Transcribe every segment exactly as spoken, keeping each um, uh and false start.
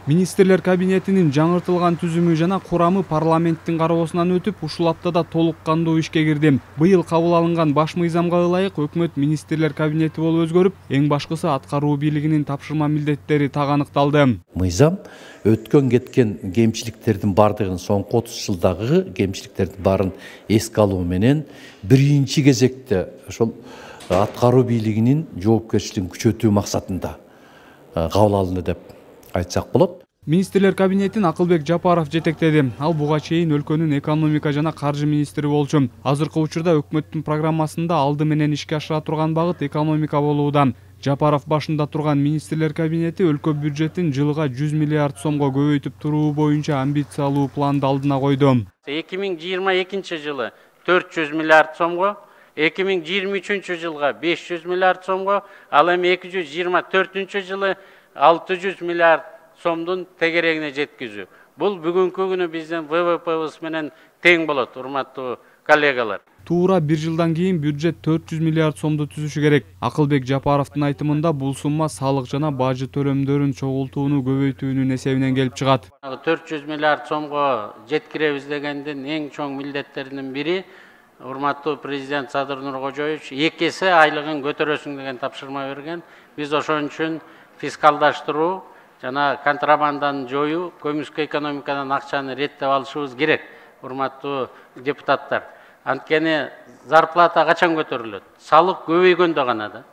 Министрлер кабинетинин жаңыртылган түзүмү жана курамы парламенттин кароосунан өтүп, ушул аптада толук кандуу ишке кирди. Быйыл кабыл алынган баш мыйзамга ылайык өкмөт министрлер кабинети болуп өзгөрүп, эң башкысы аткаруу бийлигинин тапшырма милдеттери так аныкталды. Мыйзам өткөн кеткен кемчиликтердин бардыгын, соңку отуз жылдагы кемчиликтердин баарын эске алуу менен биринчи кезекте ошол аткаруу бийлигинин жоопкерчилигин күчөтүү максатында кабыл алынды деп айтсак болот. Министрлер кабинетин Акылбек Жапаров жетектеди. Ал буга чейин өлкөнүн экономика жана каржы министри болчу. Азыркы учурда өкмөттүн программасында алды менен ишке ашыра турган багыт экономика болууда. Жапаров башында турган министрлер кабинети өлкө бюджетин жылга жүз миллиард сомго көбөйтүп туруу боюнча амбициялуу планды алдына койду. эки миң жыйырма экинчи жылы төрт жүз миллиард сомго, эки миң жыйырма үчүнчү жылга беш жүз миллиард сомго, ал эми эки жүз жыйырма төртүнчү жылы алты жүз миллиард сомдун тегерегине жеткизүү. Бул бүгүнкү күнү биздин вэ вэ пэбиз менен тең болот, урматтуу коллегалар. Туура бир жылдан кийин бюджет төрт жүз миллиард сомду түзүшү керек. Акылбек Жапаровдун айтымында бул сумма салык жана бажы төлөмдөрүн чогултууну көбөйтүүнүн эсебинен келип чыгат. төрт жүз миллиард сомго жеткиребиз дегендин эң чоң милдеттеринин бири урматтуу президент Садыр Нуркожоевич эки эсе айлыгын көтөрөсүң деген тапшырма берген. Биз ошон үчүн фискалдаштыруу жана контрабанданы жоюу, көмүскө экономикадан акчаны реттеп алышыбыз керек, урматтуу депутаттар. Анткени зарплата качан көтөрүлөт? Салык көбөйгөндө гана да.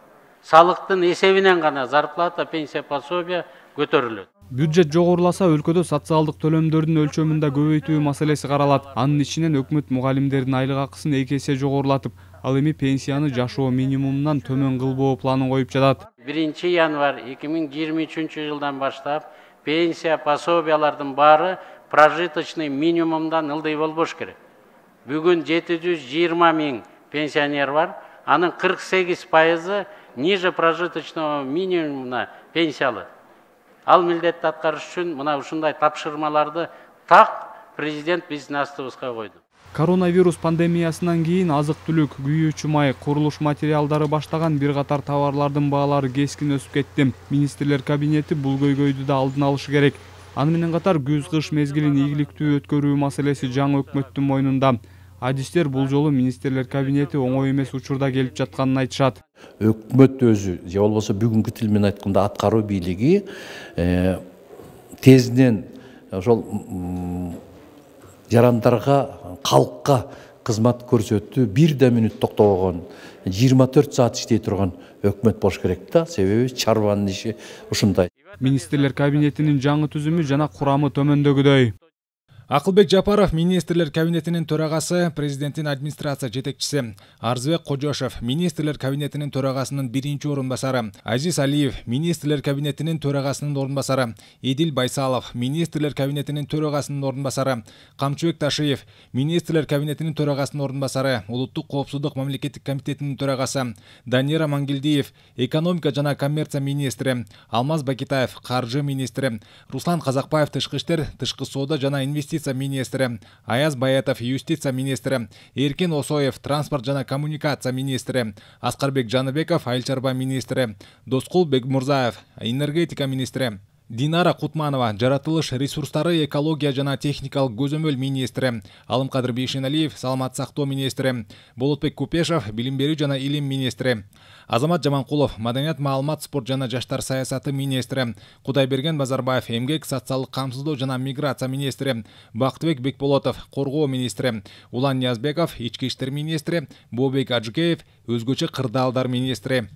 Салыктын эсебинен гана зарплата, пенсия, пособия көтөрүлөт. Бюджет жогоруласа, өлкөдө социалдык төлөмдөрдүн өлчөмүндө көбөйтүү маселеси каралат. Анын ичинен өкмөт мугалимдердин айлык акысын эки эсе жогорулатып, ал эми пенсияны жашоо минимумунан төмөн кылбоо планын коюп жатат. биринчи январь эки миң жыйырма үчүнчү жылдан баштап пенсия, пособиялардын баары прожиточный минимумдан ылдый болбош керек. Бүгүн жети жүз жыйырма миң пенсионер бар, анын кырк сегиз пайызы ниже прожиточного минимума пенсиялы. Ал милдетти аткарыш үчүн мына ушундай тапшырмаларды так президент биздин астыбызга койду. Коронавирус пандемиясынан кийин азык-түлүк, күйүүчү май, курулуш материалдары баштаган бир катар товарлардын баалары кескин өсүп кетти. Министрлер кабинети бул көйгөйдү да алдын алышы керек. Аны менен катар күз-кыш мезгилин ийгиликтүү өткөрүү маселеси жаңы өкмөттүн мойнунда. Адистер бул жолу министрлер кабинети оңой эмес учурда келип жатканын айтышат. Өкмөт өзү, же болбосо бүгүнкү тил менен айтканда аткаруу бийлиги тезинен ошол жарандарга, калкка кызмат көрсөтүү бирде мүнөт токтобогон, жыйырма төрт саат иштей турган өкмөт болуш керек да, себеби чарбанын иши ушундай. Министрлер кабинетинин жаңы түзүмү жана курамы төмөндөгүдөй. Акылбек Жапаров министрлер кабинетинин төрагасы, президенттин администрация жетекчиси. Арзыбек Кожошов министрлер кабинетинин төрагасынын биринчи орун басары. Азиз Алиев министрлер кабинетинин төрагасынын орун басары. Эдил Байсалов министрлер кабинетинин төрагасынын орун басары. Камчыбек Ташиев министрлер кабинетинин төрагасынын орун басары. Улуттук коопсуздук мамлекеттик комитетинин төрагасы. Данира Мангелдиев экономика жана коммерция министри. Алмаз Бакитаев каржы министри. Руслан Казакбаев тышкы иштер, тышкы соода жана инвестиция министри, Аяз Баятов юстиция министри, Эркин Осоев транспорт жана коммуникация министри, Аскарбек Жаныбеков айыл чарба министри, Доскул Бекмурзаев энергетика министри, Динара Кутманова жаратылыш ресурстары, экология жана техникалык көзөмөл министри, Алымкадыр Бейшеналиев саламат сактоо министри, Болотбек Купешов билим берүү жана илим министри, Азамат Жаманкулов маданият, маалымат, спорт жана жаштар саясаты министри, Кудайберген Базарбаев эмгек, социалдык камсыздоо жана миграция министри, Бактыбек Бекболотов коргоо министри, Улан Ниязбеков ички иштер министри, Бообек Ажыкеев өзгөчө кырдаалдар министри.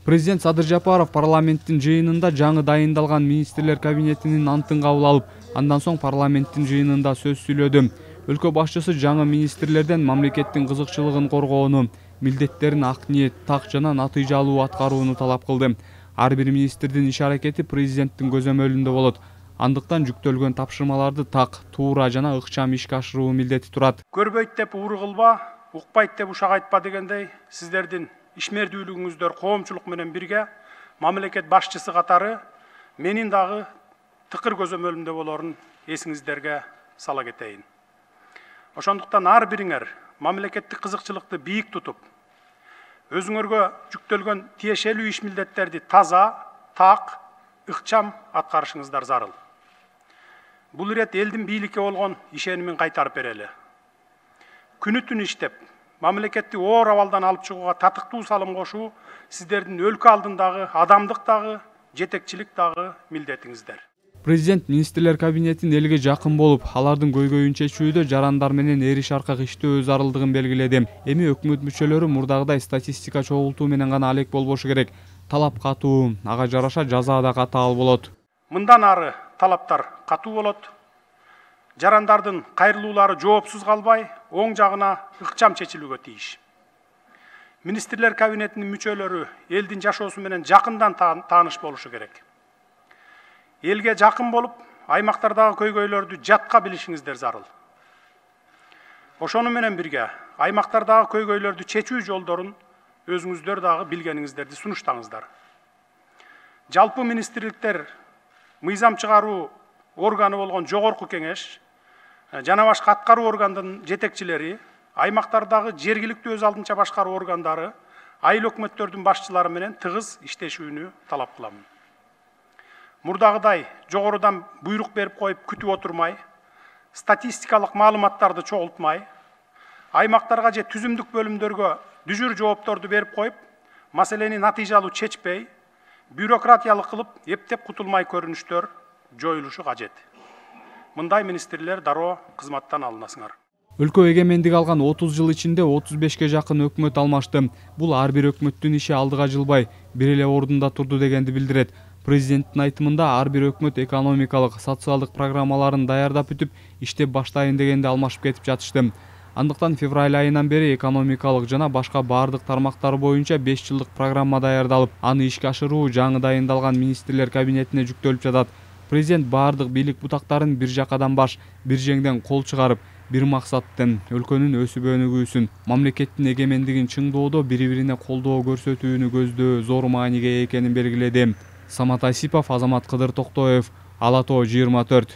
Президент Садыр Жапаров парламенттин жыйынында жаңы дайындалган министрлер кабинетинин антын кабыл алып, андан соң парламенттин жыйынында сөз сүйлөдү. Өлкө башчысы жаңы министрлерден мамлекеттин кызыкчылыгын коргоону, милдеттерин ак ниет, так жана натыйжалуу аткарууну талап кылды. Ар бир министрдин иш аракети президенттин көзөмөлүндө болот. Андыктан жүктөлгөн тапшырмаларды так, туура жана ыкчам ишке ашыруу милдети турат. Көрбөйт деп уур кылба, укпайт деп ушак айтпа дегендей, сиздердин ишмердүүлүгүңүздөр коомчулук менен бирге мамлекет башчысы катары менин дагы тыкыр көзөмөлүмдө болорун эсиңиздерге сала кетейин. Ошондуктан ар бириңер мамлекеттик кызыкчылыкты бийик тутуп, өзүңөргө жүктөлгөн тиешелүү иш милдеттерди таза, так, ыкчам аткарышыңыздар зарыл. бул ирет элдин бийликке болгон ишенимин кайтарып берели. Күнү түнү иштеп, мамлекетти оор абалдан алып чыгууга татыктуу салым кошуу сиздердин өлкө алдындагы адамдык дагы, жетекчилик дагы милдетиңиздер. Президент министрлер кабинетин элге жакын болуп, алардын көйгөйүн чечүүдө жарандар менен эри шаркак иштөө зарылдыгын белгиледи. Эми өкмөт мүчөлөрү мурдагыдай статистика чогултуу менен гана алек болбошу керек. Талап катуу, ага жараша жаза да катаал болот. Мындан ары талаптар катуу болот. Жарандардын кайрылуулары жоопсуз калбай, оң жагына ыкчам чечилүүгө тийиш. Министрлер кабинетинин мүчөлөрү элдин жашоосу менен жакындан тааныш болушу керек. Элге жакын болуп, аймактардагы көйгөйлөрдү жатка билишиңиздер зарыл. Ошону менен бирге, аймактардагы көйгөйлөрдү чечүү жолдорун өзүңүздөр дагы билгениңиздерди сунуштаңыздар. Жалпы министрликтер мыйзам чыгаруу органы болгон жогорку кеңеш жана башка аткаруу органдын жетекчилери, аймактардагы жергиликтүү өз алдынча башкаруу органдары, айыл өкмөттөрдүн башчылары менен тыгыз иштешүүнү талап кылам. Мурдагыдай жогорудан буйрук берип коюп күтүп отурмай, статистикалык маалыматтарды чогултмай, аймактарга же түзүмдүк бөлүмдөргө дүжүр жоопторду берип коюп, маселени натыйжалуу чечпей, бюрократиялык кылып, эптеп кутулмай көрүнүштөр жоюлушу кажет. Мындай министрлер дароо кызматтан алынасыңар. Өлкө эгемендик алган отуз жыл ичинде отуз бешке жакын өкмөт алмашты. Бул ар бир өкмөттүн иши алдыга жылбай, бир эле ордунда турду дегенди билдирет. Президенттин айтымында ар бир өкмөт экономикалык, социалдык программаларын даярдап бүтүп, иштеп баштайын дегенде алмашып кетип жатышты. Андыктан февраль айынан бери экономикалык жана башка баардык тармактар боюнча беш жылдык программа даярдалып, аны ишке ашыруу жаңы дайындалган министрлер кабинетине жүктөлүп жатат. Президент баардык бийлик бутактарын бир жакадан баш, бир жеңден кол чыгарып, бир максаттын өлкөнүн өсүп өнүгүүсүн, мамлекеттин эгемендигин чыңдоодо бири-бирине колдоо көрсөтүүнү көздөө зор мааниге экенин белгиледи. Самат Айсипов, Азамат Кыдыр Токтоев, Ала Тоо жыйырма төрт.